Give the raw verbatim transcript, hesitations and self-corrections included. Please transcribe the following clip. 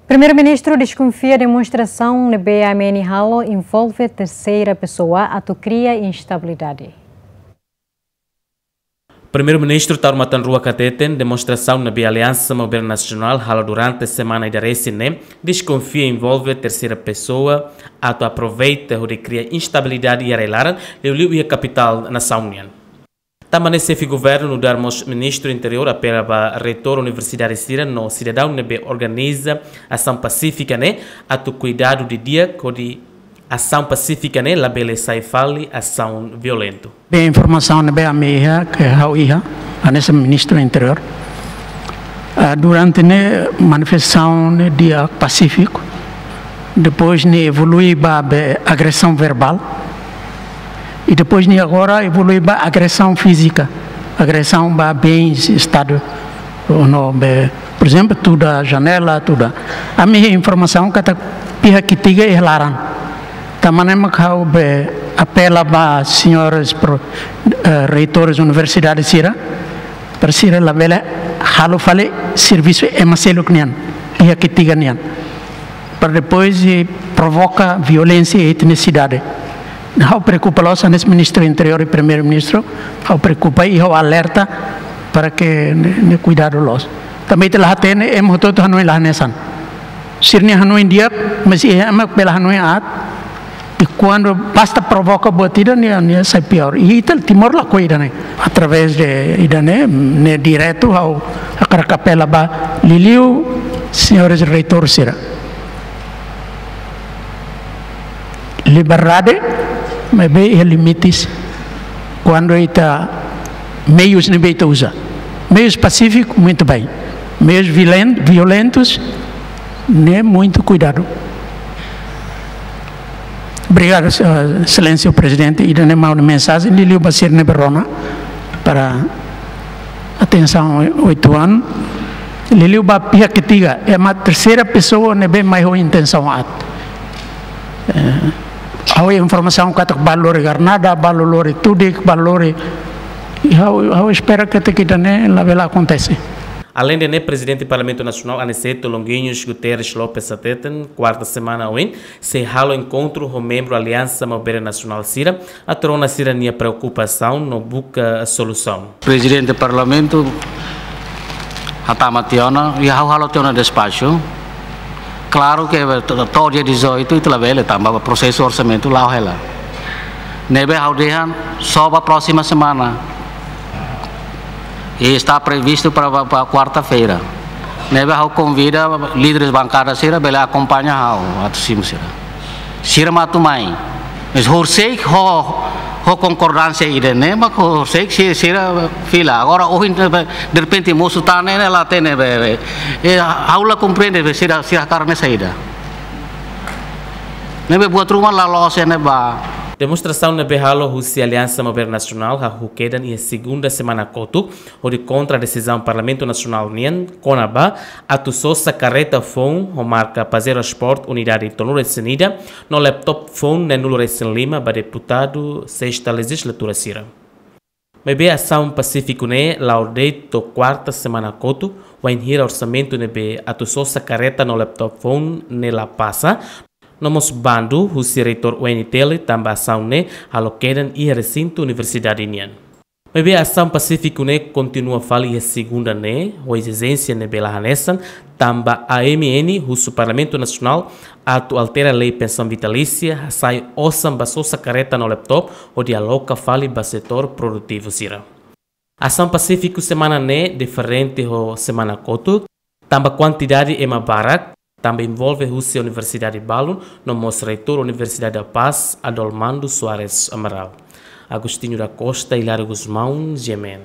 Primeiru-Ministru deskonfia demonstrasaun ne'ebé A M N halo envolve terseira pesoa atu kria instabilidade. Primeiru-Ministru Taur Matan Ruak hateten demonstrasaun ne'ebé Aliansa Maubere Nasionál halo durante semana ida-resin ne'e deskonfia envolve terseira pesoa atu aproveita hodi kria instabilidade iha rai-laran, liuliu iha kapitál nasaun nian. Tanba ne'e xefe governu nu'udar mós Ministru Interiór apela ba reitór universidade sira no sidadaun ne'ebé organiza asaun pasífika ne'e atu kuidadu didi'ak hodi asaun pasífika ne'e labele sai fali asaun violentu. Be informasaun ne'ebé ami iha, ke ha'u iha, hanesan Ministru Interiór. Ah, durante ne'e manifestasaun ne'e di'ak, pasífiku. Depois ne'e evolui ba be agresaun verbál. I depois ne'e agora evolui ba agresaun fízika. Agresaun ba bens Estadu. Ou não, be, por ezemplu, tuda janela, tuda. Ami iha informasaun katak pihak ketiga iha laran. Tanba ne'e mak ha'u be apela ba señores pro-, eh, reitores universidade sira, para sira labele halo fali servisu ema seluk nian, pihak ketiga nian, para depois, eh, provoka violénsia iha ita-nia sidade. Ha'u preokupa loos, hanesan Ministru Interiór i Primeiru-Ministru, ha'u preokupa i ha'u alerta para ke ne'e, ne'e kuidadu loos. Tanba ita la hatene, ema hotu-hotu hanoin la hanesan. Sira-nia hanoin di'ak, mas iha ema bele hanoin aat. I kuandu basta provoka buat ida, nia, nia sai piór. I ita Timor lakohi ida-ne'e. Através de ida-ne'e, ne'e diretu, ha'u hakarak apela ba liuliu señores reitór sira. Liberdade, maibé iha limites. Kuandu ita meius ne'ebé ita uza. Meius pasífiku, muito bem. Meius violen-, violentus, ne'e muito cuidado. Obrigadu, eh, Exelénsia Prezidente. Ida-ne'e mak ha'u-nia mensajen, liuliu ba sira ne'ebé rona para atensaun oituan. Liuliu ba pihak ketiga, ema terseira pesoa ne'ebé mai ho intensaun aat. Eh, ha'u informasaun katak balu lori garnada, balu lori tudik, balu lori, i ha'u, ha'u espera katak ida-ne'e labele akontese. Aleinde ne'e, Prezidente Parlamentu Nasionál, Aniceto Longuinhos Guterres Lopes hateten, kuarta semana oin, sei halo enkontru ho membru Aliansa Maubere Nasionál sira, atu rona sira-nia preokupasaun no buka solusaun. Prezidente Parlamentu hatama tiha ona, i ha'u halo tiha ona despaxu. Klaru ke to-, to'o dia dezoito ita labele, tanba prosesu orsamentu la'o hela. Ne'ebé ha'u dehan só ba próxima semana. I está previsto para, para, para kuarta-feira. Ne'ebé ha'u konvida líderes bankada sira bele akompaña ha'u atu simu sira. Sira mak atu mai. Mas horiseik ho, ho konkordánsia ida-ne'e mak horiseik si-, sira fila. Agora ohin, derrepente mosu tan ne'e la hatene be, be. Eh, ha'u la komprende be sira, sira hakarak ne'e saida. Ne'ebé buat ruma la loos iha ne'ebá. Demonstrasaun ne'ebé halo husi Aliansa Maubere Nasionál hahú kedan iha segunda semana kotuk, hodi kontra desizaun Parlamentu Nasionál nian kona-ba atu sosa karreta foun ho marka Pajero Sport unidade tolunulu-resin-ida no laptop foun neenulu-resin-lima ba deputadu sesta lejizlatura sira. Maibé asaun pasífiku ne'e la'o de'it to'o kuarta semana kotuk, wainhira orsamentu ne'ebé atu sosa karreta no laptop foun ne'e la pasa, no mós bandu husi reitór U N T L tanba asaun ne'e halo kedan iha resintu universidade nian. Maibé asaun pasífiku ne'e kontinua fali iha segunda ne'e, ho ezijénsia ne'ebé la hanesan, tanba A M N husu Parlamentu Nasionál atu altera lei pensaun vitalísia, hasai osan ba sosa karreta no laptop, hodi aloka fali ba setór produtivu sira. Asaun pasífiku semana ne'e diferente ho semana kotuk, tanba kuantidade ema barak, tanba envolve husi universidade balun, no mós reitór Universidade da Paz, Adolmando Soares Amaral. Agostinho da Costa, Hilário Gusmão, G M N.